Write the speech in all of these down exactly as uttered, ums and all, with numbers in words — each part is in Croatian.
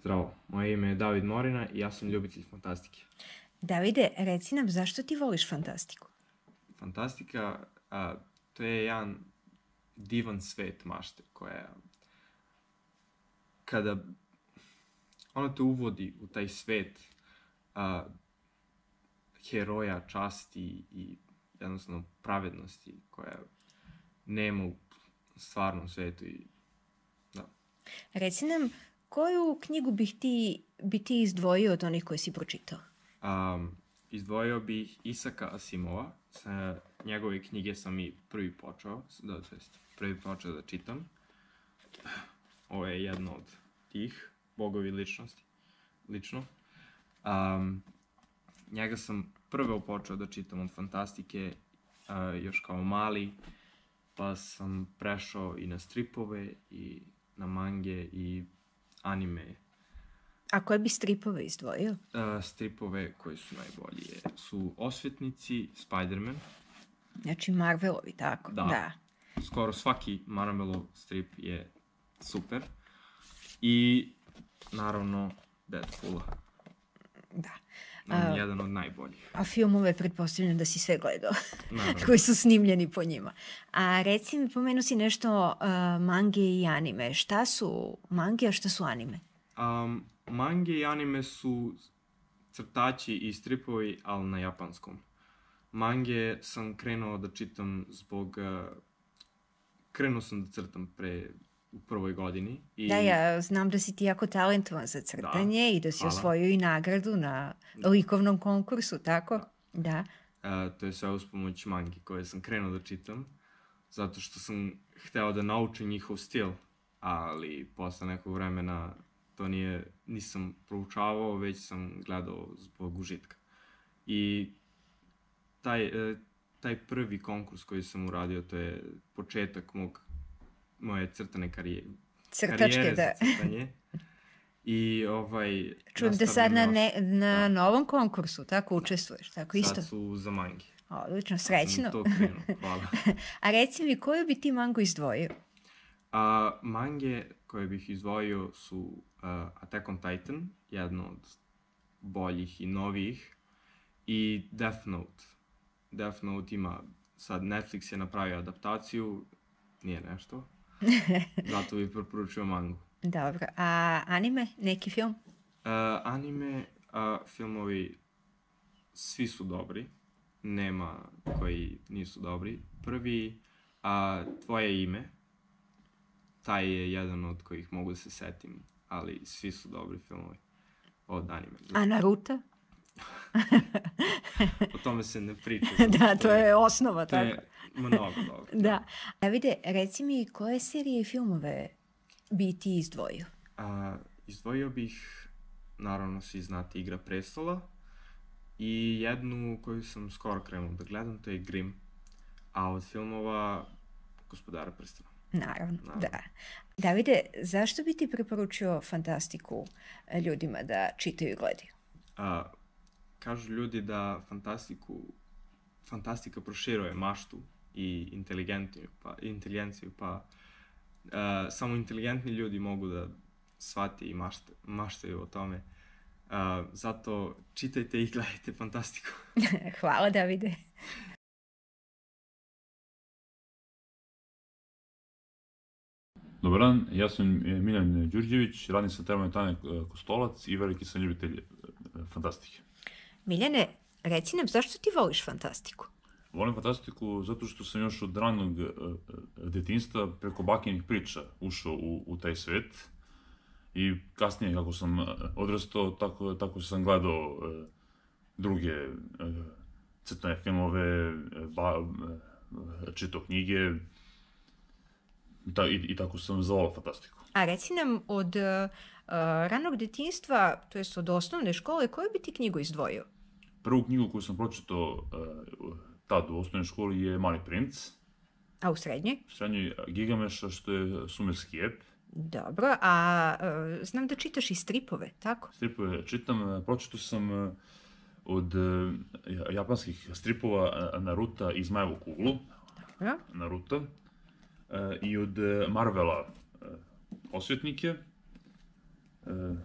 Zdravo, moje ime je David Morina i ja sam ljubitelj fantastike. Davide, reci nam zašto ti voliš fantastiku? Fantastika, a, to je jedan divan svet mašte koja, kada ona te uvodi u taj svet a, heroja, časti i jednostavno pravednosti koja nema u stvarnom svetu. I, da. Reci nam, koju knjigu bih ti, bi ti izdvojio od onih koje si pročitao? Um, izdvojio bih Isaka Asimova. Sa njegove knjige sam i prvi počeo, da, to jest prvi počeo da čitam. Ovo je jedno od tih, Bogovi ličnosti, lično. Um, njega sam prvo počeo da čitam od fantastike, uh, još kao mali, pa sam prešao i na stripove, i na mange, i anime. A koje bi stripove izdvojio? Uh, stripove koji su najbolji su Osvetnici, Spider-Man. Znači Marvelovi, tako? Da. da. Skoro svaki Marvelov strip je super. I, naravno, Deadpoola. Da. On je A, jedan od najboljih. a filmove pretpostavljam da si sve gledao, Naravno. koji su snimljeni po njima. A reci mi, pomenu si nešto uh, mange i anime. Šta su mange, a šta su anime? Um, mange i anime su crtači i stripovi, ali na japanskom. Mange sam krenuo da čitam zbog... Uh, krenuo sam da crtam pre u prvoj godini. I... Da, ja znam da si ti jako talentovan za crtanje da, i da si hvala. Osvojio i nagradu na da. likovnom konkursu, tako? Da. da. Uh, to je sve uz pomoć mangi koje sam krenuo da čitam, zato što sam hteo da naučim njihov stil, ali posle nekog vremena to nije, nisam proučavao, već sam gledao zbog užitka. I taj, taj prvi konkurs koji sam uradio, to je početak mog, moje crtane karijere. Crtačke, karijere da. za crtanje. I ovaj... Čujem da sad na, ne, na da. novom konkursu, tako učestvuješ, tako isto? Sad su za mangi. Odlično, srećno. Sam to krenuo, hvala. A reci mi, koju bi ti mangu izdvojio? A, mange koje bih izdvojio su uh, Attack on Titan, jedno od boljih i novijih, i Death Note. Death Note ima, sad Netflix je napravio adaptaciju, nije nešto, zato bih preporučio mangu. Dobro, a anime, neki film? Uh, anime, uh, filmovi, svi su dobri, nema koji nisu dobri. Prvi, uh, Tvoje ime, taj je jedan od kojih mogu da se setim, ali svi su dobri filmovi od anime. A Naruto? O tome se ne priča. Da, to je osnova, to tako. To je mnogo dobro. Da. A vide, reci mi, koje serije i filmove bi ti izdvojio? A, izdvojio bih, naravno svi znate, Igra prestola, i jednu koju sam skoro krenuo da gledam, to je Grimm, a od filmova Gospodara prstena. Naravno, Naravno, da. Davide, zašto bi ti preporučio fantastiku ljudima da čitaju i gledaju? A, kažu ljudi da fantastiku, fantastika proširuje maštu i inteligenciju, pa, inteligenciju, pa a, samo inteligentni ljudi mogu da shvate i mašte, maštaju o tome. A, zato čitajte i gledajte fantastiku. Hvala, Davide. Dobar dan, ja sam Miljan Đurđević, radim sa termom Tanja Kostolac i veliki sam ljubitelj fantastike. Miljane, reci nam, zašto ti voliš fantastiku? Volim fantastiku zato što sam još od ranog detinjstva preko bakinih priča ušao u, u taj svet. I kasnije, kako sam odrastao, tako, tako sam gledao e, druge e, crtane filmove, ba, e, čitao knjige, ta, i, i tako sam zavolao fantastiku. A reci nam, od uh, ranog detinjstva, to jest od osnovne škole, koju bi ti knjigu izdvojio? Prvu knjigu koju sam pročitao uh, tad u osnovnoj školi je Mali princ. A u srednjoj? U srednjoj Gigameša, što je sumerski ep. Dobro, a uh, znam da čitaš i stripove, tako? Stripove čitam, pročitao sam uh, od uh, japanskih stripova Naruta i Zmajevu kuglu. Dobro. Naruto. Uh, I od Marvela uh, Osvetnike. Uh,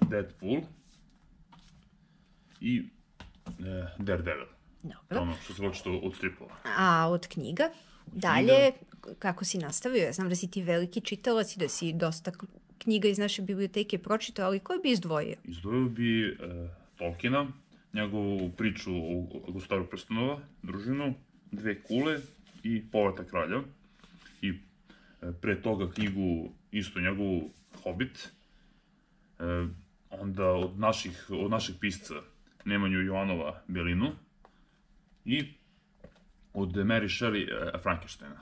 Deadpool i e, Daredevil. To je Dobro. ono što se počeo od stripova. A od knjiga? Dalje, kako si nastavio? Ja znam da si ti veliki čitalac i da si dosta k- knjiga iz naše biblioteke pročitao, ali koji bi izdvojio? Izdvojio bi e, Tolkiena, njegovu priču o Gospodaru prstenova, družinu, Dve kule i Povratak kralja. I e, pre toga knjigu, isto njegovu Hobbit. E, onda od naših, od naših pisca Nemanju Jovanova Belinu i od Mary Shelley e, Frankensteina.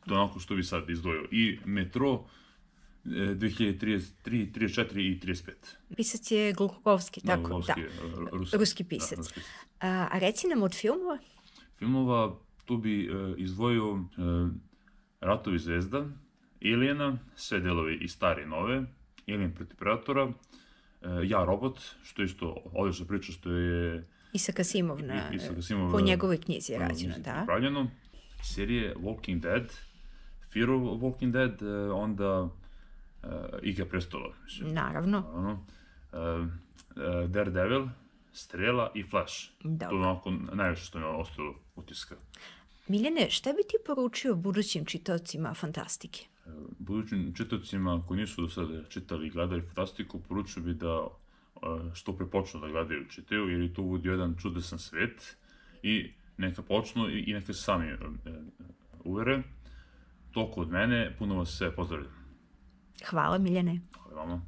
To je onako što bi sad izdvojio. I Metro e, dve hiljade trideset tri, trideset četiri i trideset pet. Pisac je Glukhovski, Da, tako? Glukhovski, Da. e, ruski, Ruski pisac. Da, ruski pisac. A, a reci nam od filmova? Filmova, tu bi e, izdvojio e, Ratovi zvezda, Aliena, sve delovi i stare i nove, Alien protiv Predatora, e, Ja, robot, što je isto odlična priča, što je Isaac Asimov na, I- Isaac Asimov, po e, njegovoj knjizi je po rađeno, knjizi da. napravljeno. Serije Walking Dead, Fear of Walking Dead, e, onda e, Igra prestola, mislim, Naravno. naravno. E, e, Daredevil, Strela i Flash. Dobro. To je onako najviše što mi je ostalo utiska. Miljane, šta bi ti poručio budućim čitaocima fantastike? Budućim čitacima koji nisu do sada čitali i gledali fantastiku, poručio bi da e, što pre počnu da gledaju i čitaju, jer je to bude jedan čudesan svet i neka počnu i, i neka se sami e, e, uvere. Toliko od mene, puno vas sve pozdravljam. Hvala, Miljane. Hvala vama.